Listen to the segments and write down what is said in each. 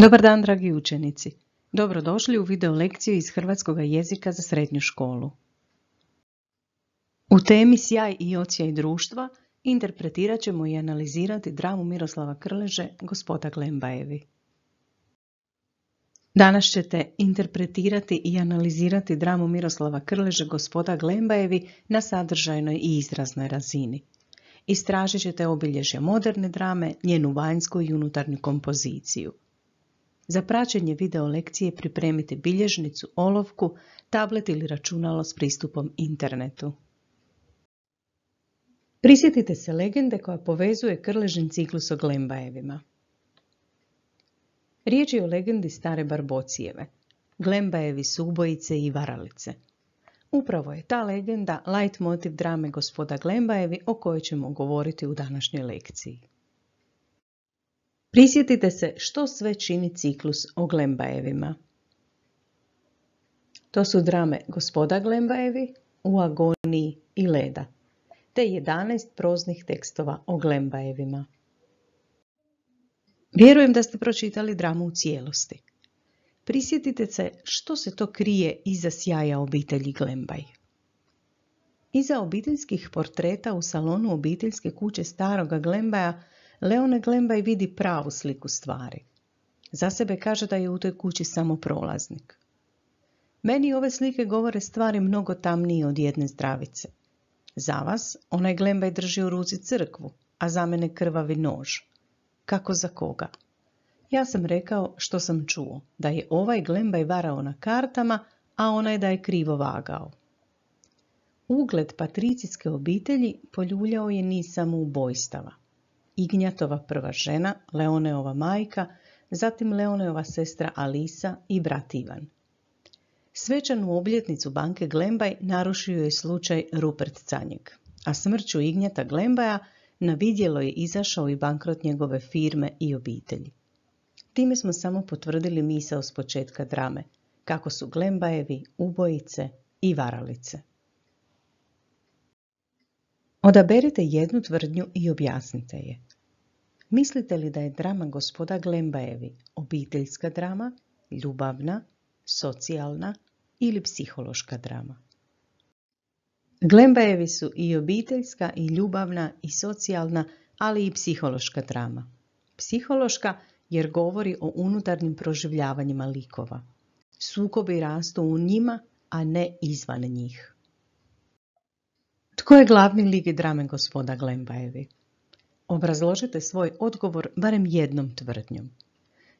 Dobar dan, dragi učenici. Dobrodošli u video lekciju iz hrvatskog jezika za srednju školu. U temi Sjaj i odsjaj društva interpretirat ćemo i analizirati dramu Miroslava Krleže Gospoda Glembajevi. Danas ćete interpretirati i analizirati dramu Miroslava Krleže Gospoda Glembajevi na sadržajnoj i izraznoj razini. Istražit ćete obilježja moderne drame, njenu vanjsku i unutarnju kompoziciju. Za praćenje video lekcije pripremite bilježnicu, olovku, tablet ili računalo s pristupom internetu. Prisjetite se legende koja povezuje Krležin ciklus o Glembajevima. Riječ je o legendi stare Barbocijeve. Glembajevi su ubojice i varalice. Upravo je ta legenda leitmotiv drame Gospoda Glembajevi o kojoj ćemo govoriti u današnjoj lekciji. Prisjetite se što sve čini ciklus o Glembajevima. To su drame Gospoda Glembajevi, U agoniji i Leda, te 11 proznih tekstova o Glembajevima. Vjerujem da ste pročitali dramu u cijelosti. Prisjetite se što se to krije iza sjaja obitelji Glembaj. Iza obiteljskih portreta u salonu obiteljske kuće staroga Glembaja Leone Glembaj vidi pravu sliku stvari. Za sebe kaže da je u toj kući samo prolaznik. Meni ove slike govore stvari mnogo tamnije od jedne zdravice. Za vas onaj Glembaj drži u ruci crkvu, a za mene krvavi nož. Kako za koga? Ja sam rekao što sam čuo, da je ovaj Glembaj varao na kartama, a onaj da je krivo vagao. Ugled patricijske obitelji poljuljao je niz samoubojstava. Ignjatova prva žena, Leoneova majka, zatim Leoneova sestra Alisa i brat Ivan. Svečanu obljetnicu banke Glembaj narušio je slučaj Rupert Canjeg, a smrću Ignjata Glembaja na vidjelo je izašao i bankrot njegove firme i obitelji. Time smo samo potvrdili misao s početka drame, kako su Glembajevi ubojice i varalice. Odaberite jednu tvrdnju i objasnite je. Mislite li da je drama Gospoda Glembajevi obiteljska drama, ljubavna, socijalna ili psihološka drama? Glembajevi su i obiteljska, i ljubavna, i socijalna, ali i psihološka drama. Psihološka jer govori o unutarnjim proživljavanjima likova. Sukobi rastu u njima, a ne izvan njih. Tko je glavni lik drame Gospoda Glembajevi? Obrazložite svoj odgovor barem jednom tvrdnjom.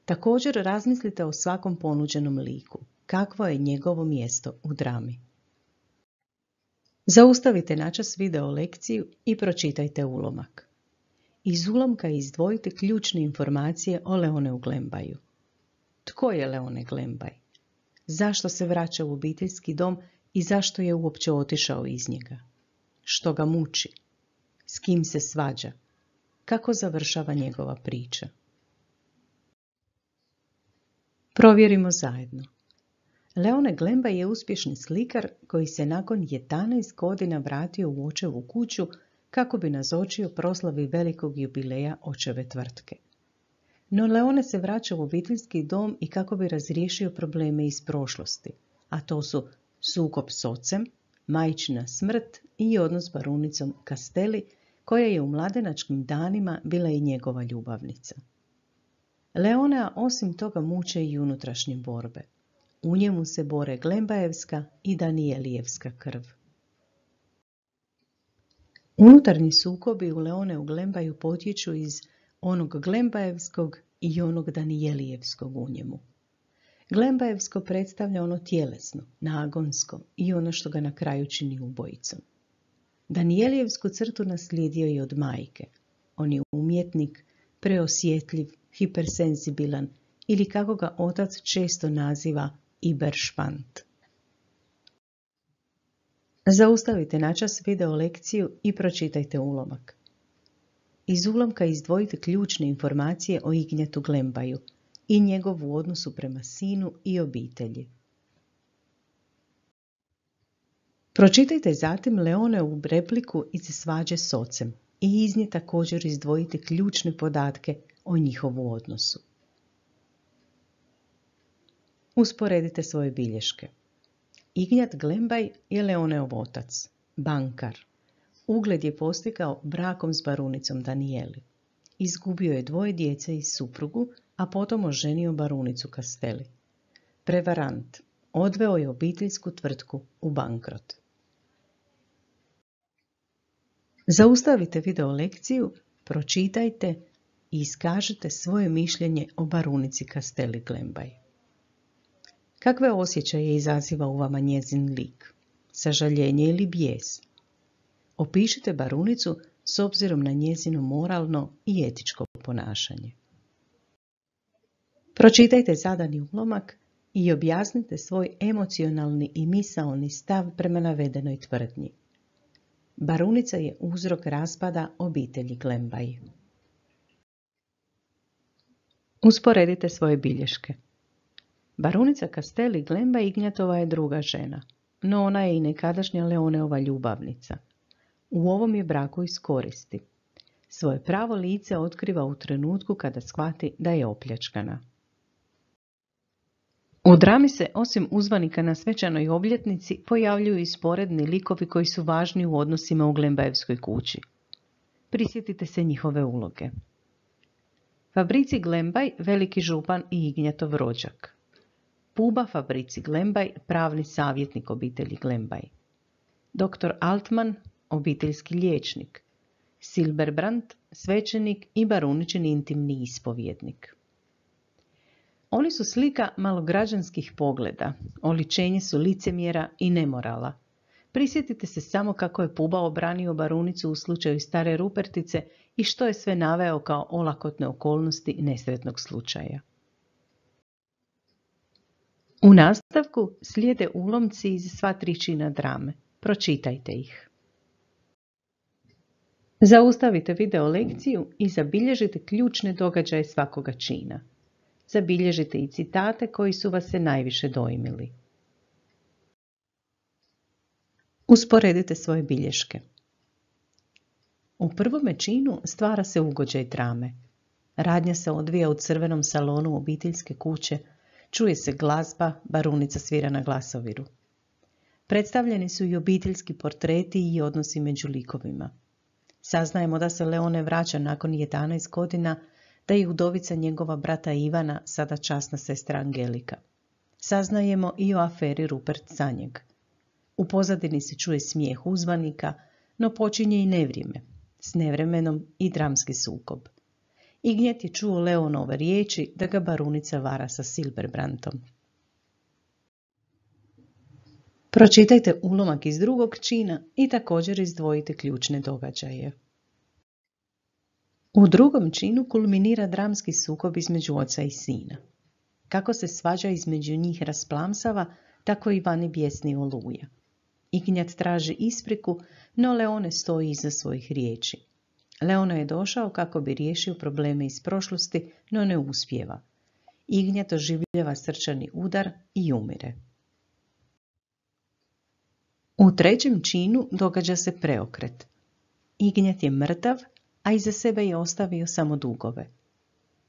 Također razmislite o svakom ponuđenom liku. Kakvo je njegovo mjesto u drami? Zaustavite načas video lekciju i pročitajte ulomak. Iz ulomka izdvojite ključne informacije o Leoneu Glembaju. Tko je Leone Glembaj? Zašto se vraća u obiteljski dom i zašto je uopće otišao iz njega? Što ga muči? S kim se svađa? Kako završava njegova priča? Provjerimo zajedno. Leone Glembaj je uspješni slikar koji se nakon 11 godina vratio u očevu kuću kako bi nazočio proslavi velikog jubileja očeve tvrtke. No Leone se vraća u obiteljski dom i kako bi razriješio probleme iz prošlosti, a to su sukob s ocem, majčina smrt i odnos s barunicom Castelli, koja je u mladenačkim danima bila i njegova ljubavnica. Leonea osim toga muče i unutrašnje borbe. U njemu se bore Glembajevska i Danijelijevska krv. Unutarnji sukobi u Leoneu Glembaju potječu iz onog Glembajevskog i onog Danijelijevskog u njemu. Glembajevsko predstavlja ono tjelesno, nagonsko i ono što ga na kraju čini ubojicom. Danijelijevsku crtu naslijedio je od majke. On je umjetnik, preosjetljiv, hipersenzibilan ili kako ga otac često naziva Iberšpant. Zaustavite načas video lekciju i pročitajte ulomak. Iz ulomka izdvojite ključne informacije o Ignjatu Glembaju i njegovu odnosu prema sinu i obitelji. Pročitajte zatim Leoneovu repliku iz svađe s ocem i iz nje također izdvojite ključne podatke o njihovu odnosu. Usporedite svoje bilješke. Ignjat Glembaj je Leoneov otac, bankar. Ugled je postigao brakom s barunicom Danijeli. Izgubio je 2 djece i suprugu, a potom oženio barunicu Castelli. Prevarant. Odveo je obiteljsku tvrtku u bankrot. Zaustavite video lekciju, pročitajte i iskažite svoje mišljenje o barunici Castelli Glembaj. Kakve osjećaje izaziva u vama njezin lik? Sažaljenje ili bijes? Opišite barunicu s obzirom na njezino moralno i etičko ponašanje. Pročitajte zadani ulomak i objasnite svoj emocionalni i misaoni stav prema navedenoj tvrdnji. Barunica je uzrok raspada obitelji Glembaj. Usporedite svoje bilješke. Barunica Castelli Glembaj Ignjatova je druga žena, no ona je i nekadašnja Leoneova ljubavnica. U ovom je braku iskoristi. Svoje pravo lice otkriva u trenutku kada shvati da je opljačkana. U drami se, osim uzvanika na svečanoj obljetnici, pojavljuju i sporedni likovi koji su važni u odnosima u Glembajevskoj kući. Prisjetite se njihove uloge. Fabrici Glembaj, veliki župan i Ignjatov rođak. Puba Fabrici Glembaj, pravni savjetnik obitelji Glembaj. Dr. Altman, obiteljski liječnik. Silberbrand, svećenik i baruničin intimni ispovjednik. Oni su slika malograđanskih pogleda, oličenje su licemjera i nemorala. Prisjetite se samo kako je Puba obranio barunicu u slučaju stare Rupertice i što je sve naveo kao olakotne okolnosti nesretnog slučaja. U nastavku slijede ulomci iz sva 3 čina drame. Pročitajte ih. Zaustavite video lekciju i zabilježite ključne događaje svakoga čina. Zabilježite i citate koji su vas se najviše dojmili. Usporedite svoje bilješke. U prvome činu stvara se ugođaj drame. Radnja se odvija u crvenom salonu obiteljske kuće, čuje se glazba, barunica svira na glasoviru. Predstavljeni su i obiteljski portreti i odnosi među likovima. Saznajemo da se Leone vraća nakon 11 godina, da je udovica njegova brata Ivana, sada časna sestra Angelika. Saznajemo i o aferi Rupert Sanjeg. U pozadini se čuje smijeh uzvanika, no počinje i nevrijeme, s nevremenom i dramski sukob. Ignjat je čuo Leonove riječi da ga barunica vara sa Silberbrandom. Pročitajte ulomak iz drugog čina i također izdvojite ključne događaje. U drugom činu kulminira dramski sukob između oca i sina. Kako se svađa između njih rasplamsava, tako i vani bijesni oluja. Ignjat traži ispriku, no Leone stoji iza svojih riječi. Leone je došao kako bi riješio probleme iz prošlosti, no ne uspijeva. Ignjat doživljava srčani udar i umire. U trećem činu događa se preokret. Ignjat je mrtav, a iza sebe je ostavio samo dugove.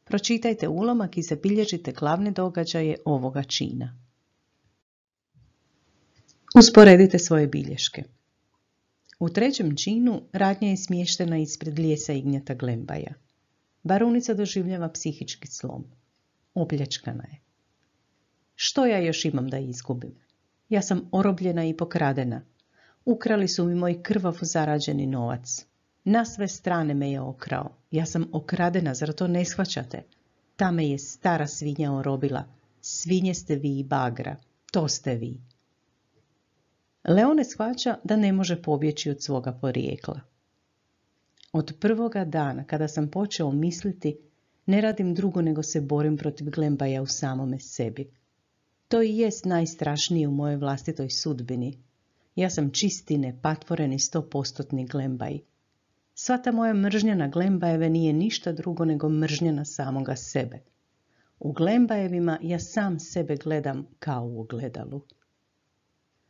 Pročitajte ulomak i zabilježite glavne događaje ovoga čina. Usporedite svoje bilješke. U trećem činu radnja je smještena ispred lijesa Ignjata Glembaja. Barunica doživljava psihički slom. Opljačkana je. Što ja još imam da izgubim? Ja sam orobljena i pokradena. Ukrali su mi moj krvav zarađeni novac. Na sve strane me je okrao. Ja sam okradena, zar to ne shvaćate? Ta me je stara svinja orobila. Svinje ste vi i bagra. To ste vi. Leone shvaća da ne može pobjeći od svoga porijekla. Od prvoga dana kada sam počeo misliti, ne radim drugo nego se borim protiv Glembaja u samome sebi. To i jest najstrašnije u mojoj vlastitoj sudbini. Ja sam čisti, nepatvoreni 100% Glembaj. Sva ta moja mržnja na Glembajeve nije ništa drugo nego mržnja na samoga sebe. U Glembajevima ja sam sebe gledam kao u ogledalu.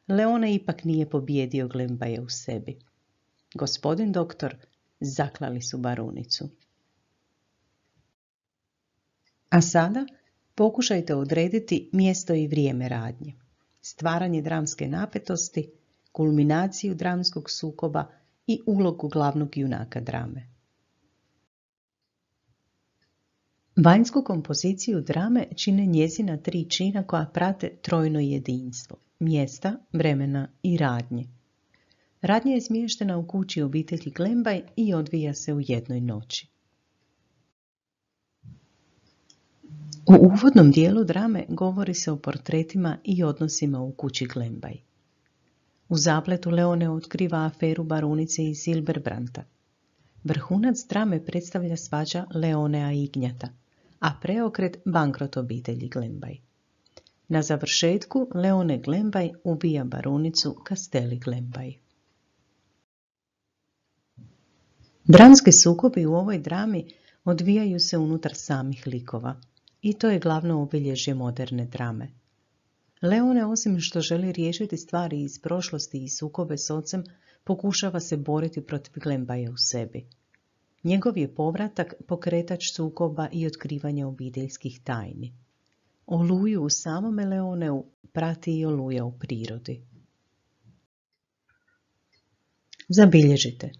Leone ipak nije pobijedio Glembaje u sebi. Gospodin doktor zaklali su barunicu. A sada Pokušajte odrediti mjesto i vrijeme radnje, stvaranje dramske napetosti, kulminaciju dramskog sukoba i ulogu glavnog junaka drame. Vanjsku kompoziciju drame čine njezina 3 čina koja prate trojno jedinstvo, mjesta, vremena i radnje. Radnja je smještena u kući obitelji Glembaj i odvija se u jednoj noći. U uvodnom dijelu drame govori se o portretima i odnosima u kući Glembaj. U zapletu Leone otkriva aferu barunice i Silberbranta. Vrhunac drame predstavlja svađa Leonea i Ignjata, a preokret bankrot obitelji Glembaj. Na završetku Leone Glembaj ubija barunicu Kasteli Glembaj. Dramski sukobi u ovoj drami odvijaju se unutar samih likova i to je glavno obilježje moderne drame. Leone, osim što želi riješiti stvari iz prošlosti i sukobe s ocem, pokušava se boriti protiv Glembaja u sebi. Njegov je povratak pokretač sukoba i otkrivanja obiteljskih tajni. Oluju u samome Leoneu prati i oluja u prirodi. Zabilježite.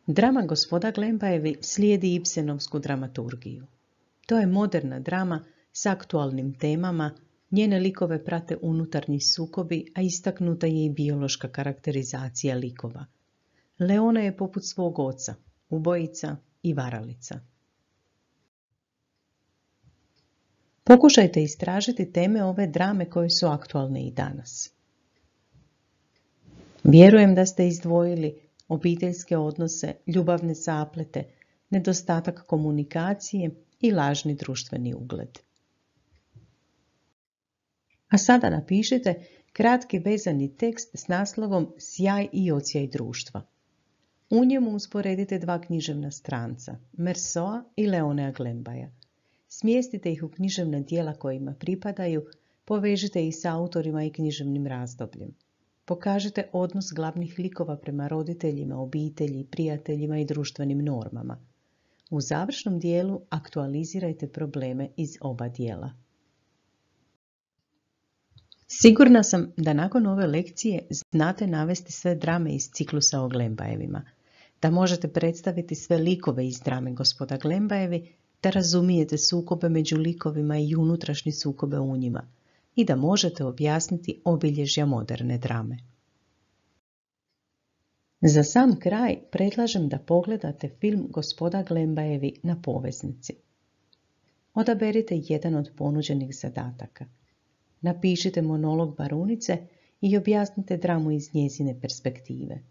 Drama Gospoda Glembajevi slijedi Ibsenovsku dramaturgiju. To je moderna drama s aktualnim temama, njene likove prate unutarnji sukobi, a istaknuta je i biološka karakterizacija likova. Leona je poput svog oca, ubojica i varalica. Pokušajte istražiti teme ove drame koje su aktualne i danas. Vjerujem da ste izdvojili obiteljske odnose, ljubavne zaplete, nedostatak komunikacije i lažni društveni ugled. A sada napišite kratki vezani tekst s naslovom Sjaj i odsjaj društva. U njemu usporedite 2 književna stranca, Mersaulta i Leonea Glembaja. Smjestite ih u književna djela kojima pripadaju, povežite ih s autorima i književnim razdobljem. Pokažite odnos glavnih likova prema roditeljima, obitelji, prijateljima i društvenim normama. U završnom dijelu aktualizirajte probleme iz oba dijela. Sigurna sam da nakon ove lekcije znate navesti sve drame iz ciklusa o Glembajevima, da možete predstaviti sve likove iz drame Gospoda Glembajevi, da razumijete sukobe među likovima i unutrašnje sukobe u njima i da možete objasniti obilježja moderne drame. Za sam kraj predlažem da pogledate film Gospoda Glembajevi na poveznici. Odaberite jedan od ponuđenih zadataka. Napišite monolog barunice i objasnite dramu iz njezine perspektive.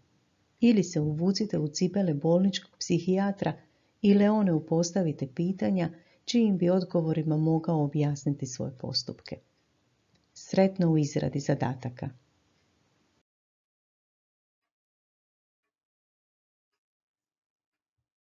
Ili se uvucite u cipele bolničkog psihijatra i Leoneu postavite pitanja čijim bi odgovorima mogao objasniti svoje postupke. Sretno u izradi zadataka.